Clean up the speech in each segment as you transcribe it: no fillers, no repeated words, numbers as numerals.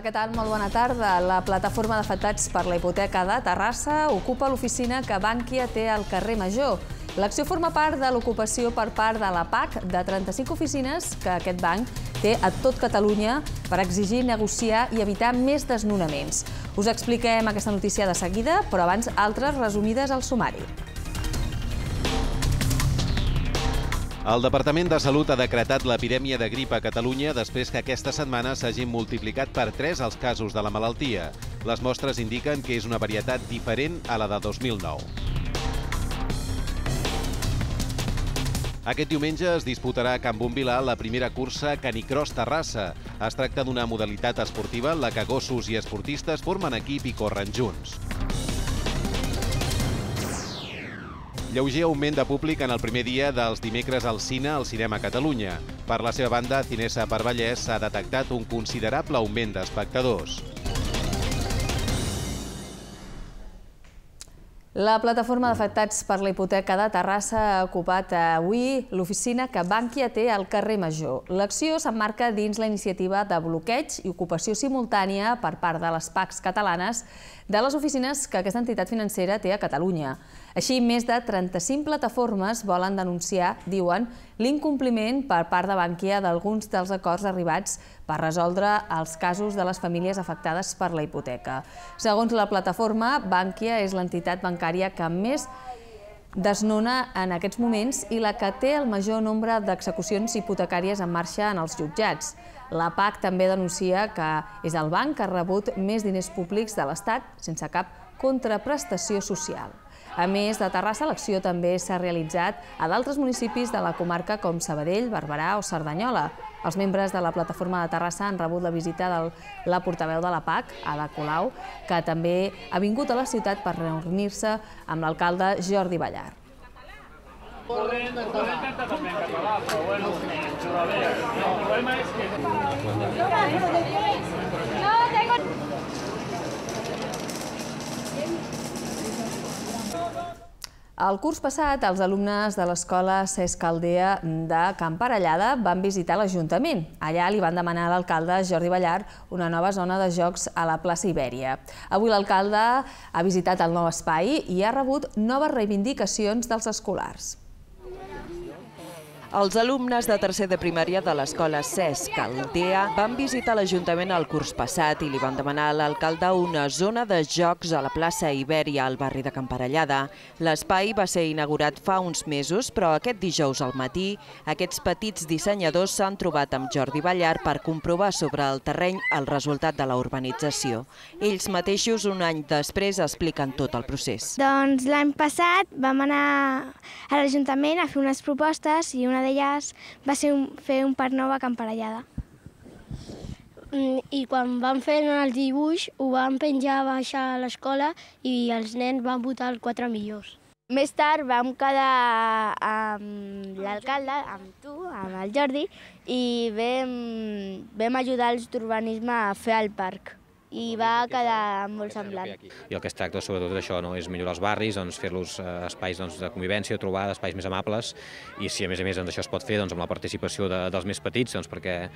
què tal? Molt bona tarda. La plataforma d'afectats per la hipoteca de Terrassa ocupa l'oficina que Bankia té al carrer Major. L'acció forma part de l'ocupació per part de la PAC de 35 oficines que aquest banc té a tot Catalunya per exigir, negociar i evitar més desnonaments. Us expliquem aquesta notícia de seguida, però abans altres resumides al sumari. El Departament de Salut ha decretat l'epidèmia de grip a Catalunya després que aquesta setmana s'hagin multiplicat per 3 els casos de la malaltia. Les mostres indiquen que és una varietat diferent a la de 2009. Aquest diumenge es disputarà a Can Bonvilar la primera cursa Canicross Terrassa. Es tracta d'una modalitat esportiva en la que gossos i esportistes formen equip i corren junts. Lleuger augment de públic en el primer dia dels dimecres al cine al Cinema Catalunya. Per la seva banda, Cinesa per Vallès ha detectat un considerable augment d'espectadors. La plataforma d'afectats per la hipoteca de Terrassa ha ocupat avui l'oficina que Bankia té al carrer Major. L'acció s'emmarca dins la iniciativa de bloqueig i ocupació simultània per part de les PACs catalanes de les oficines que aquesta entitat financera té a Catalunya. Així, més de 35 plataformes volen denunciar, diuen, l'incompliment per part de Bankia d'alguns dels acords arribats per resoldre els casos de les famílies afectades per la hipoteca. Segons la plataforma, Bankia és l'entitat bancària que més desnona en aquests moments i la que té el major nombre d'execucions hipotecàries en marxa en els jutjats. La PAC també denuncia que és el banc que ha rebut més diners públics de l'Estat sense cap contraprestació social. A més de Terrassa, l'acció també s'ha realitzat a d'altres municipis de la comarca com Sabadell, Barberà o Cerdanyola. Els membres de la plataforma de Terrassa han rebut la visita de la portaveu de la PAC, Ada Colau, que també ha vingut a la ciutat per reunir-se amb l'alcalde Jordi Ballar. El curs passat, els alumnes de l'escola Cesc Aldea de Can Parellada van visitar l'Ajuntament. Allà li van demanar a l'alcalde Jordi Ballar una nova zona de jocs a la plaça Ibèria. Avui l'alcalde ha visitat el nou espai i ha rebut noves reivindicacions dels escolars. Els alumnes de tercer de primària de l'escola Cesc Aldea van visitar l'Ajuntament el curs passat i li van demanar a l'alcalde una zona de jocs a la plaça Ibèria al barri de Can Parellada. L'espai va ser inaugurat fa uns mesos, però aquest dijous al matí aquests petits dissenyadors s'han trobat amb Jordi Ballar per comprovar sobre el terreny el resultat de la urbanització. Ells mateixos, un any després, expliquen tot el procés. Doncs l'any passat vam anar a l'Ajuntament a fer unes propostes i una d'elles va ser fer un parc nou a Can Parellada. I quan vam fer el dibuix ho vam penjar a baixar a l'escola i els nens van votar els 4 millors. Més tard vam quedar amb l'alcalde, amb tu, amb el Jordi, i vam ajudar els d'urbanisme a fer el parc. I va quedar molt semblant. I el que es tracta sobretot d'això és millorar els barris, fer-los espais de convivència, trobar espais més amables, i si a més això es pot fer amb la participació dels més petits, perquè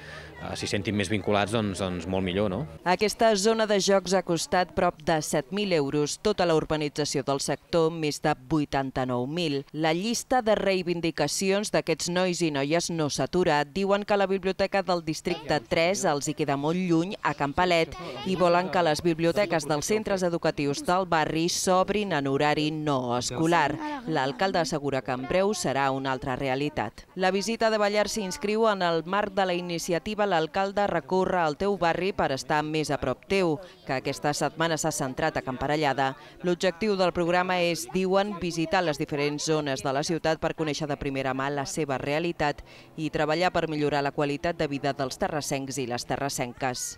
s'hi sentin més vinculats, molt millor. Aquesta zona de jocs ha costat prop de 7.000 euros, tota la urbanització del sector més de 89.000. La llista de reivindicacions d'aquests nois i noies no s'atura. Diuen que la biblioteca del districte 3 els hi queda molt lluny, a Can Palet, i volen que les biblioteques dels centres educatius del barri s'obrin en horari no escolar. L'alcalde assegura que en breu serà una altra realitat. La visita de Ballar s'inscriu en el marc de la iniciativa L'alcalde recorre al teu barri per estar més a prop teu, que aquesta setmana s'ha centrat a Can Parellada. L'objectiu del programa és, diuen, visitar les diferents zones de la ciutat per conèixer de primera mà la seva realitat i treballar per millorar la qualitat de vida dels terrassencs i les terrassenques.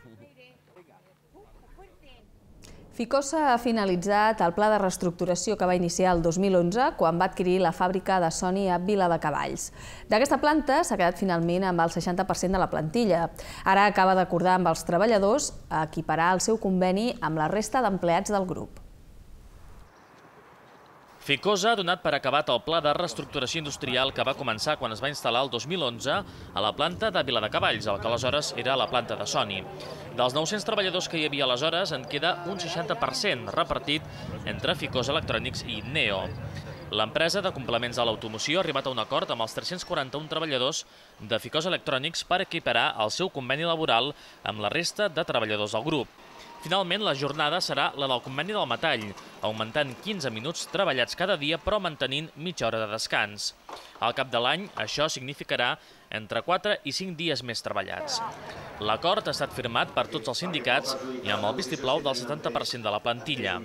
Ficosa ha finalitzat el pla de reestructuració que va iniciar el 2011 quan va adquirir la fàbrica de Sony a Viladecavalls. D'aquesta planta s'ha quedat finalment amb el 60% de la plantilla. Ara acaba d'acordar amb els treballadors equiparar el seu conveni amb la resta d'empleats del grup. Ficosa ha donat per acabat el pla de reestructuració industrial que va començar quan es va instal·lar el 2011 a la planta de Viladecavalls, el que aleshores era la planta de Sony. Dels 900 treballadors que hi havia aleshores en queda un 60% repartit entre Ficosa Electrònics i Neo. L'empresa de complements de l'automoció ha arribat a un acord amb els 341 treballadors de Ficosa Electrònics per equiparar el seu conveni laboral amb la resta de treballadors del grup. Finalment, la jornada serà la del conveni del metall, augmentant 15 minuts treballats cada dia però mantenint mitja hora de descans. Al cap de l'any, això significarà entre 4 i 5 dies més treballats. L'acord ha estat firmat per tots els sindicats i amb el vistiplau del 70% de la plantilla.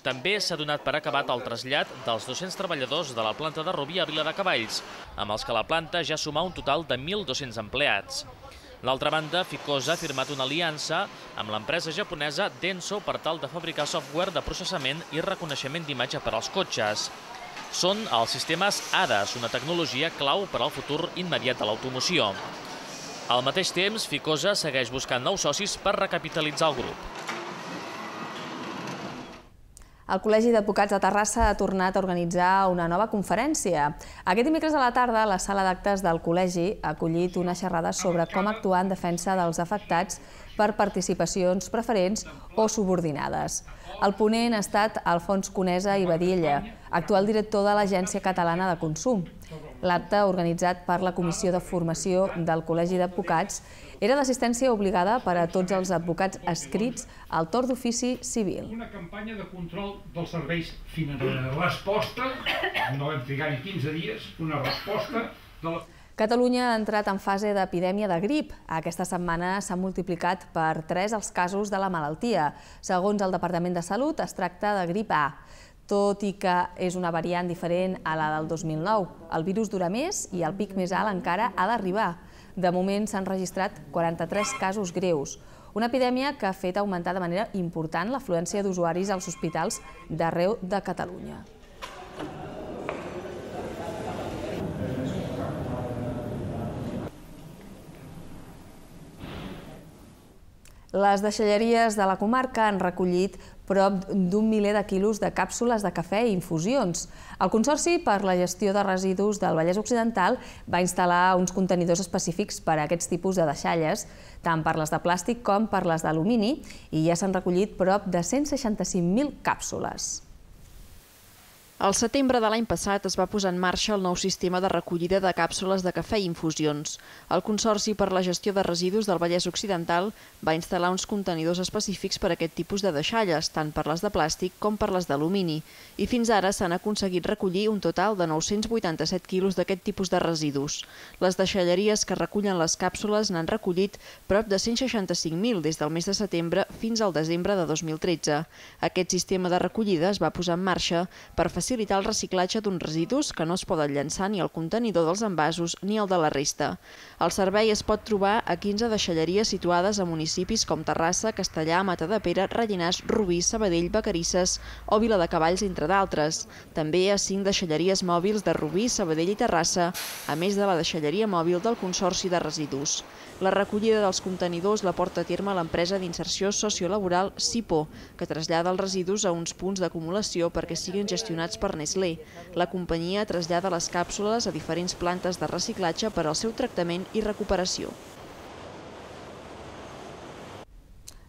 També s'ha donat per acabat el trasllat dels 200 treballadors de la planta de Rubí a Viladecavalls, amb els que la planta ja suma un total de 1.200 empleats. D'altra banda, Ficosa ha firmat una aliança amb l'empresa japonesa Denso per tal de fabricar software de processament i reconeixement d'imatge per als cotxes. Són els sistemes ADAS, una tecnologia clau per al futur immediat de l'automoció. Al mateix temps, Ficosa segueix buscant nous socis per recapitalitzar el grup. El Col·legi d'Advocats de Terrassa ha tornat a organitzar una nova conferència. Aquest dimecres a la tarda, la sala d'actes del col·legi ha acollit una xerrada sobre com actuar en defensa dels afectats per participacions preferents o subordinades. El ponent ha estat Alfons Conesa i Badilla, actual director de l'Agència Catalana de Consum. L'acte, organitzat per la Comissió de Formació del Col·legi d'Advocats, era d'assistència obligada per a tots els advocats adscrits al torn d'ofici civil. Una campanya de control dels serveis financers. Resposta, no vam trigar ni 15 dies, una resposta de la... Catalunya ha entrat en fase d'epidèmia de grip. Aquesta setmana s'han multiplicat per 3 els casos de la malaltia. Segons el Departament de Salut, es tracta de grip A. Tot i que és una variant diferent a la del 2009. El virus dura més i el pic més alt encara ha d'arribar. De moment s'han registrat 43 casos greus. Una epidèmia que ha fet augmentar de manera important l'afluència d'usuaris als hospitals d'arreu de Catalunya. Les deixalleries de la comarca han recollit prop d'un miler de quilos de càpsules de cafè i infusions. El Consorci per la Gestió de Residus del Vallès Occidental va instal·lar uns contenidors específics per a aquests tipus de deixalles, tant per les de plàstic com per les d'alumini, i ja s'han recollit prop de 165.000 càpsules. Al setembre de l'any passat es va posar en marxa el nou sistema de recollida de càpsules de cafè i infusions. El Consorci per la Gestió de Residus del Vallès Occidental va instal·lar uns contenidors específics per a aquest tipus de deixalles, tant per les de plàstic com per les d'alumini, i fins ara s'han aconseguit recollir un total de 987 quilos d'aquest tipus de residus. Les deixalleries que recullen les càpsules n'han recollit prop de 165.000 des del mes de setembre fins al desembre de 2013. Aquest sistema de recollida es va posar en marxa per facilitar el reciclatge d'uns residus que no es poden llançar ni al contenidor dels envasos ni al de la resta. El servei es pot trobar a 15 deixalleries situades a municipis com Terrassa, Castellà, Matadepera, Rellinars, Rubí, Sabadell, Vacarisses o Viladecavalls, entre d'altres. També a 5 deixalleries mòbils de Rubí, Sabadell i Terrassa, a més de la deixalleria mòbil del Consorci de Residus. La recollida dels contenidors la porta a terme l'empresa d'inserció sociolaboral SIPO, que trasllada els residus a uns punts d'acumulació perquè siguin gestionats per Nestlé. La companyia trasllada les càpsules a diferents plantes de reciclatge per al seu tractament i recuperació.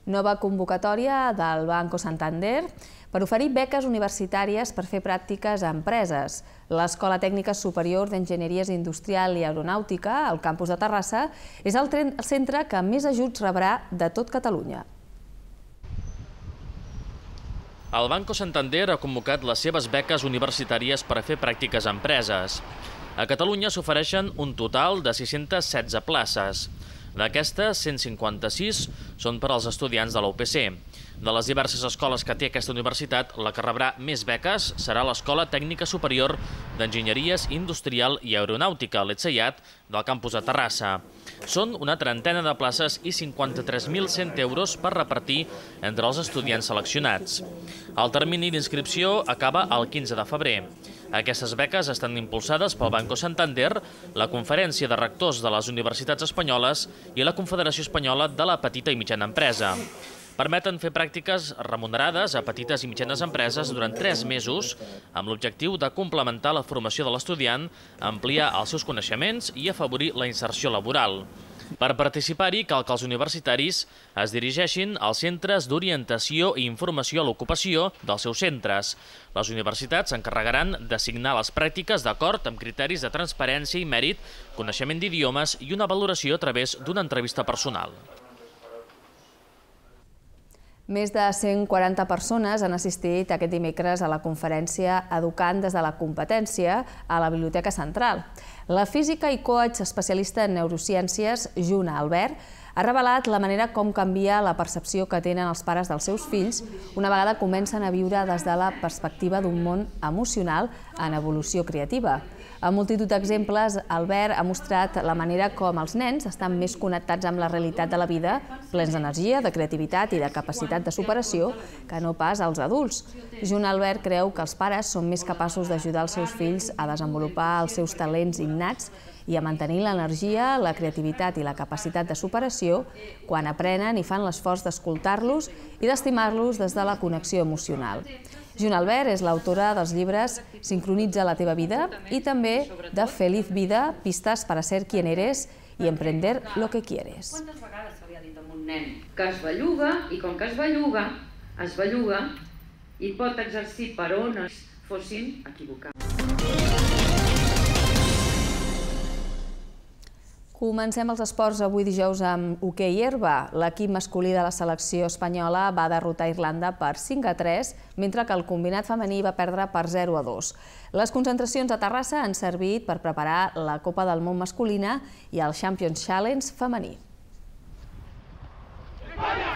Nova convocatòria del Banco Santander per oferir beques universitàries per fer pràctiques a empreses. L'Escola Tècnica Superior d'Enginyeries Industrial i Aeronàutica, al campus de Terrassa, és el centre que més ajuts rebrà de tot Catalunya. El Banco Santander ha convocat les seves beques universitàries per a fer pràctiques a empreses. A Catalunya s'ofereixen un total de 616 places. D'aquestes, 156 són per als estudiants de la UPC. De les diverses escoles que té aquesta universitat, la que rebrà més beques serà l'Escola Tècnica Superior d'Enginyeries Industrial i Aeronàutica, l'ETSEIAT, del campus de Terrassa. Són una trentena de places i 53.100 euros per repartir entre els estudiants seleccionats. El termini d'inscripció acaba el 15 de febrer. Aquestes beques estan impulsades pel Banco Santander, la Conferència de Rectors de les Universitats Espanyoles i la Confederació Espanyola de la Petita i Mitjana Empresa. Permeten fer pràctiques remunerades a petites i mitjanes empreses durant 3 mesos amb l'objectiu de complementar la formació de l'estudiant, ampliar els seus coneixements i afavorir la inserció laboral. Per participar-hi cal que els universitaris es dirigeixin als centres d'orientació i informació a l'ocupació dels seus centres. Les universitats s'encarregaran d'assignar les pràctiques d'acord amb criteris de transparència i mèrit, coneixement d'idiomes i una valoració a través d'una entrevista personal. Més de 140 persones han assistit aquest dimecres a la conferència Educant des de la competència a la Biblioteca Central. La física i coach especialista en neurociències, Juna Albert, ha revelat la manera com canvia la percepció que tenen els pares dels seus fills una vegada comencen a viure des de la perspectiva d'un món emocional en evolució creativa. Amb multitud d'exemples, Albert ha mostrat la manera com els nens estan més connectats amb la realitat de la vida, plens d'energia, de creativitat i de capacitat de superació, que no pas als adults. Juna Albert creu que els pares són més capaços d'ajudar els seus fills a desenvolupar els seus talents innats i a mantenir l'energia, la creativitat i la capacitat de superació quan aprenen i fan l'esforç d'escoltar-los i d'estimar-los des de la connexió emocional. Juna Albert és l'autora dels llibres Sincronitza la teva vida i també de Feliz vida, pistes para ser quien eres i emprender lo que quieres. Quantes vegades se li ha dit a un nen que es belluga i com que es belluga i pot exercir per on es fossin equivocats. Comencem els esports avui dijous amb hoquei herba. L'equip masculí de la selecció espanyola va derrotar Irlanda per 5-3, mentre que el combinat femení va perdre per 0-2. Les concentracions a Terrassa han servit per preparar la Copa del Món masculina i el Champions Challenge femení.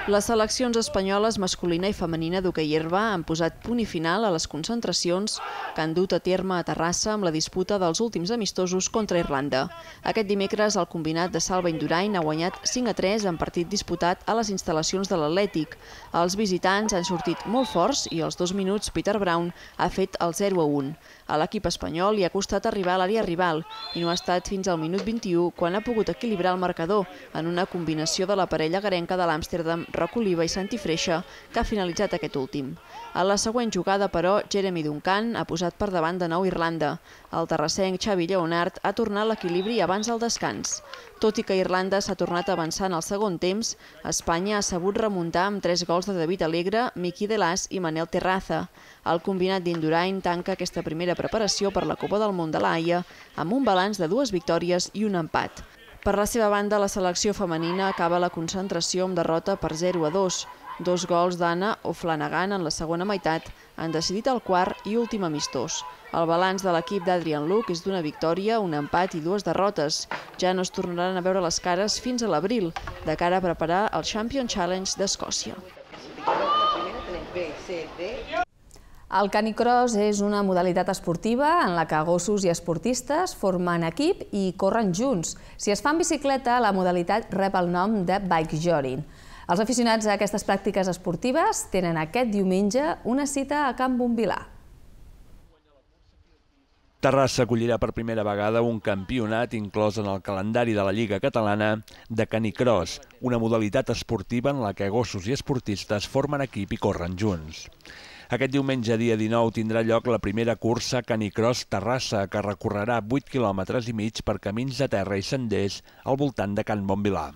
Les seleccions espanyoles masculina i femenina d'hoquei herba han posat punt i final a les concentracions que han dut a terme a Terrassa amb la disputa dels últims amistosos contra Irlanda. Aquest dimecres el combinat de Salva Indurain ha guanyat 5-3 en partit disputat a les instal·lacions de l'Atlètic. Els visitants han sortit molt forts i als 2 minuts Peter Brown ha fet el 0-1. A l'equip espanyol li ha costat arribar a l'àrea rival i no ha estat fins al minut 21 quan ha pogut equilibrar el marcador en una combinació de la parella garenca de l'Amsterdam, Roc Oliva i Santi Freixa, que ha finalitzat aquest últim. A la següent jugada, però, Jeremy Duncan ha posat per davant de nou Irlanda. El terrassenc Xavi Lleonard ha tornat l'equilibri abans del descans. Tot i que Irlanda s'ha tornat avançant al segon temps, Espanya ha sabut remuntar amb 3 gols de David Alegre, Miki Delàs i Manel Terraza. El combinat d'Indurain tanca aquesta primera preparació per la Copa del Món de la Haia amb un balanç de 2 victòries i un empat. Per la seva banda, la selecció femenina acaba la concentració amb derrota per 0-2. 2 gols d'Anna O'Flanagan en la segona meitat han decidit el quart i últim amistós. El balanç de l'equip d'Adrian Luke és d'una victòria, un empat i 2 derrotes. Ja no es tornaran a veure les cares fins a l'abril, de cara a preparar el Champions Challenge d'Escòcia. El canicross és una modalitat esportiva en la que gossos i esportistes formen equip i corren junts. Si es fa en bicicleta, la modalitat rep el nom de bike jogging. Els aficionats a aquestes pràctiques esportives tenen aquest diumenge una cita a Can Bombilà. Terrassa acollirà per primera vegada un campionat inclòs en el calendari de la Lliga Catalana de canicross, una modalitat esportiva en la que gossos i esportistes formen equip i corren junts. Aquest diumenge, dia 19, tindrà lloc la primera cursa Canicross Terrassa, que recorrerà 8,5 quilòmetres per camins de terra i senders al voltant de Can Bombilà.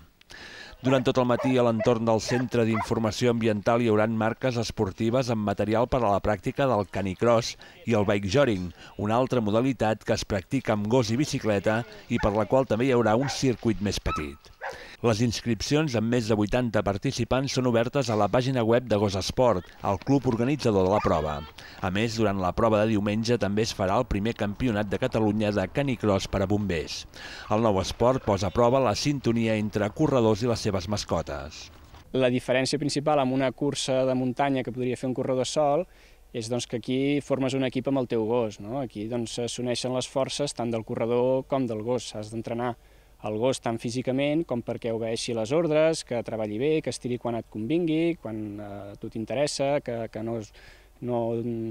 Durant tot el matí, a l'entorn del Centre d'Informació Ambiental hi haurà marques esportives amb material per a la pràctica del canicross i el bike jogging, una altra modalitat que es practica amb gos i bicicleta i per la qual també hi haurà un circuit més petit. Les inscripcions amb més de 80 participants són obertes a la pàgina web de Gos Esport, el club organitzador de la prova. A més, durant la prova de diumenge també es farà el primer campionat de Catalunya de canicross per a bombers. El nou esport posa a prova la sintonia entre corredors i les seves mascotes. La diferència principal amb una cursa de muntanya que podria fer un corredor sol és que aquí formes un equip amb el teu gos. Aquí s'uneixen les forces tant del corredor com del gos. Has d'entrenar el gos tant físicament com perquè obeeixi les ordres, que treballi bé, que estiri quan et convingui, quan a tu t'interessa, que no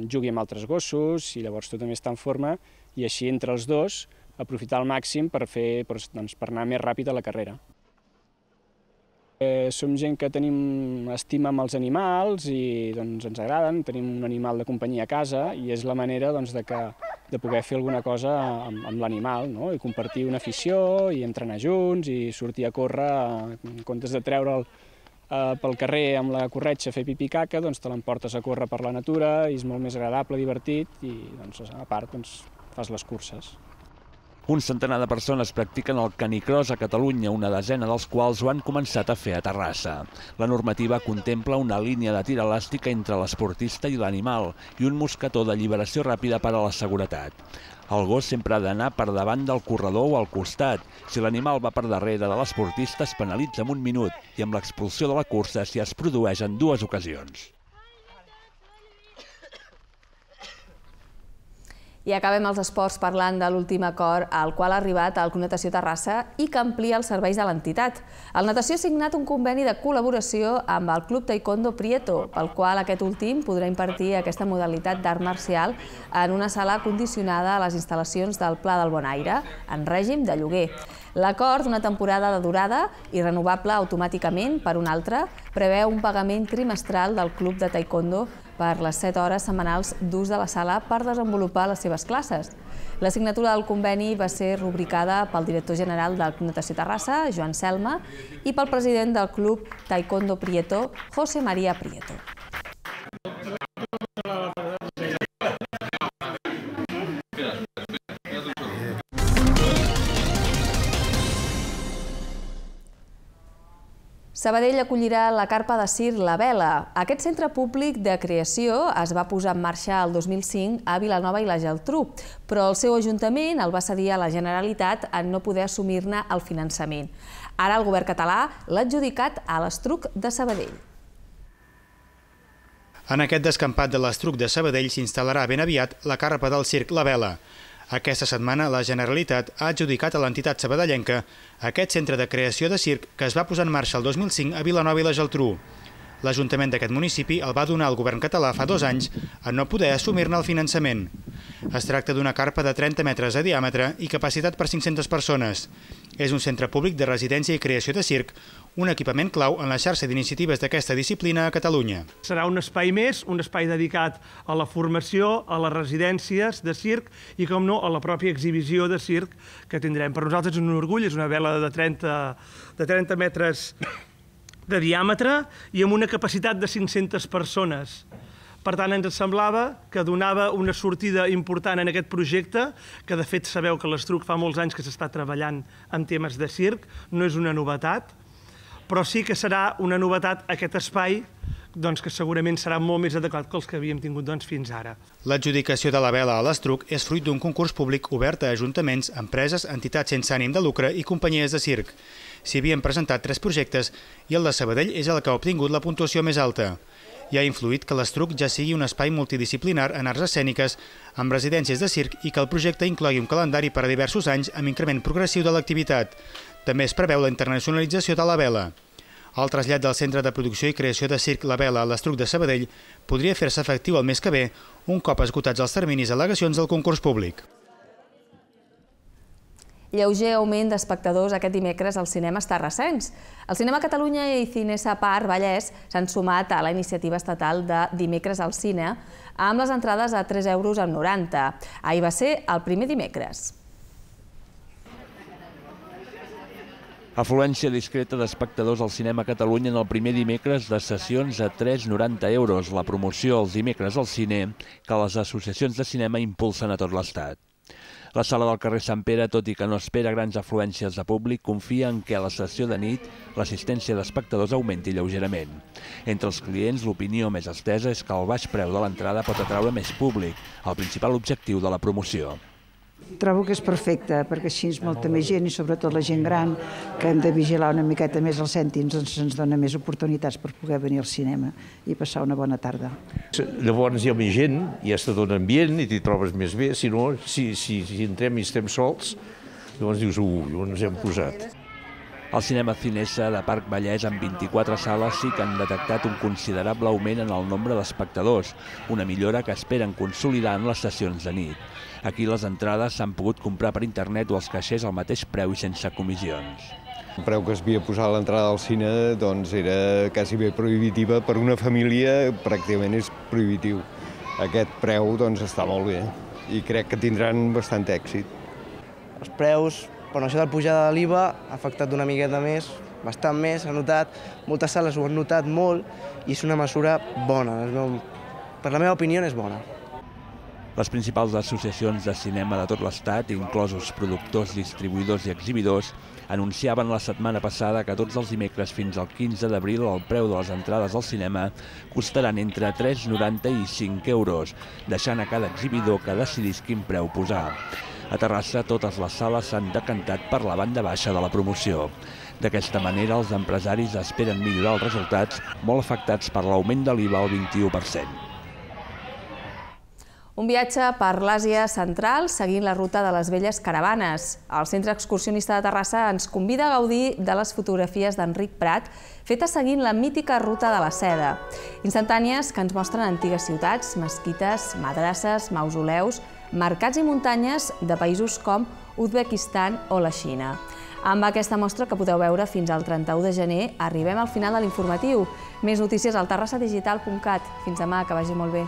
jugui amb altres gossos i llavors tu també està en forma i així entre els dos aprofitar al màxim per anar més ràpid a la carrera. Som gent que tenim estima amb els animals i ens agraden, tenim un animal de companyia a casa i és la manera de poder fer alguna cosa amb l'animal, i compartir una afició i entrenar junts i sortir a córrer, en comptes de treure'l pel carrer amb la corretja a fer pipí caca, te l'emportes a córrer per la natura i és molt més agradable, divertit i a part fas les curses. Un centenar de persones practiquen el canicross a Catalunya, una desena dels quals ho han començat a fer a Terrassa. La normativa contempla una línia de tir elàstica entre l'esportista i l'animal i un mosquetó d'alliberació ràpida per a la seguretat. El gos sempre ha d'anar per davant del corredor o al costat. Si l'animal va per darrere de l'esportista es penalitza amb 1 minut i amb l'expulsió de la cursa si es produeix en 2 ocasions. I acabem els esports parlant de l'últim acord al qual ha arribat el Club Natació Terrassa i que amplia els serveis de l'entitat. El Natació ha signat un conveni de col·laboració amb el Club Taekwondo Prieto, pel qual aquest últim podrà impartir aquesta modalitat d'art marcial en una sala condicionada a les instal·lacions del Pla del Bon Aire, en règim de lloguer. L'acord, d'una temporada de durada i renovable automàticament per una altra, preveu un pagament trimestral del Club de Taekwondo per les 7 hores setmanals d'ús de la sala per desenvolupar les seves classes. La signatura del conveni va ser rubricada pel director general del Club Natació Terrassa, Joan Selma, i pel president del Club Taekwondo Prieto, José María Prieto. Sabadell acollirà la carpa de circ La Vela. Aquest centre públic de creació es va posar en marxa el 2005 a Vilanova i la Geltrú, però el seu ajuntament el va cedir a la Generalitat en no poder assumir-ne el finançament. Ara el govern català l'ha adjudicat a l'Estruc de Sabadell. En aquest descampat de l'Estruc de Sabadell s'instal·larà ben aviat la carpa del circ La Vela. Aquesta setmana la Generalitat ha adjudicat a l'entitat sabadellenca aquest centre de creació de circ que es va posar en marxa el 2005 a Vilanova i la Geltrú. L'Ajuntament d'aquest municipi el va donar al govern català fa 2 anys en no poder assumir-ne el finançament. Es tracta d'una carpa de 30 metres de diàmetre i capacitat per 500 persones. És un centre públic de residència i creació de circ, un equipament clau en la xarxa d'iniciatives d'aquesta disciplina a Catalunya. Serà un espai més, un espai dedicat a la formació, a les residències de circ i, com no, a la pròpia exhibició de circ que tindrem. Per nosaltres és un orgull, és una vela de 30 metres de diàmetre i amb una capacitat de 500 persones. Per tant, ens semblava que donava una sortida important en aquest projecte, que de fet sabeu que l'Estruc fa molts anys que s'està treballant en temes de circ, no és una novetat, però sí que serà una novetat aquest espai que segurament serà molt més adequat que els que havíem tingut fins ara. L'adjudicació de la vela a l'Estruc és fruit d'un concurs públic obert a ajuntaments, empreses, entitats sense ànim de lucre i companyies de circ. S'hi havien presentat 3 projectes i el de Sabadell és el que ha obtingut la puntuació més alta. I ha influït que l'Estruc ja sigui un espai multidisciplinar en arts escèniques amb residències de circ i que el projecte inclogui un calendari per a diversos anys amb increment progressiu de l'activitat. També es preveu la internacionalització de la vela. El trasllat del Centre de Producció i Creació de Circ La Vela a l'Estruc de Sabadell podria fer-se efectiu el mes que ve, un cop esgotats els terminis al·legacions del concurs públic. Lleuger augment d'espectadors aquest dimecres als cinemes terrassencs. El Cinema Catalunya i Cinesa Parc Vallès s'han sumat a la iniciativa estatal de Dimecres al Cine amb les entrades a 3,90 €. Ahir va ser el primer dimecres. Afluència discreta d'espectadors al Cinema Catalunya en el primer dimecres de sessions a 3,90 €, la promoció els dimecres al cine que les associacions de cinema impulsen a tot l'Estat. La sala del carrer Sant Pere, tot i que no espera grans afluències de públic, confia en què a la sessió de nit l'assistència d'espectadors augmenti lleugerament. Entre els clients, l'opinió més estesa és que el baix preu de l'entrada pot atraure més públic, el principal objectiu de la promoció. Trobo que és perfecte, perquè així és molta més gent, i sobretot la gent gran, que hem de vigilar una miqueta més els cèntims, ens dona més oportunitats per poder venir al cinema i passar una bona tarda. Llavors hi ha més gent, hi ha tot un ambient i t'hi trobes més bé, si no, si entrem i estem sols, llavors dius, on ens hem posat. Al cinema Cinesa de Parc Vallès, amb 24 sales, sí que han detectat un considerable augment en el nombre d'espectadors, una millora que esperen consolidar en les sessions de nit. Aquí les entrades s'han pogut comprar per internet o als caixers al mateix preu i sense comissions. El preu que es havia posat a l'entrada al cine era quasi bé prohibitiva. Per una família pràcticament és prohibitiu. Aquest preu està molt bé i crec que tindran bastant èxit. Els preus, per això de la pujada de l'IVA, ha afectat una miqueta més, bastant més, s'ha notat. Moltes sales ho han notat molt i és una mesura bona. Per la meva opinió és bona. Les principals associacions de cinema de tot l'Estat, inclosos productors, distribuïdors i exhibidors, anunciaven la setmana passada que tots els dimecres fins al 15 d'abril el preu de les entrades al cinema costaran entre 3,90 i 5 euros, deixant a cada exhibidor que decidís quin preu posar. A Terrassa, totes les sales s'han decantat per la banda baixa de la promoció. D'aquesta manera, els empresaris esperen millorar els resultats, molt afectats per l'augment de l'IVA al 21%. Un viatge per l'Àsia central seguint la ruta de les velles caravanes. El Centre Excursionista de Terrassa ens convida a gaudir de les fotografies d'Enric Prat fetes seguint la mítica ruta de la seda. Instantànies que ens mostren antigues ciutats, mesquites, madrasses, mausoleus, mercats i muntanyes de països com Uzbekistan o la Xina. Amb aquesta mostra, que podeu veure fins al 31 de gener, arribem al final de l'informatiu. Més notícies al terrassadigital.cat. Fins demà, que vagi molt bé.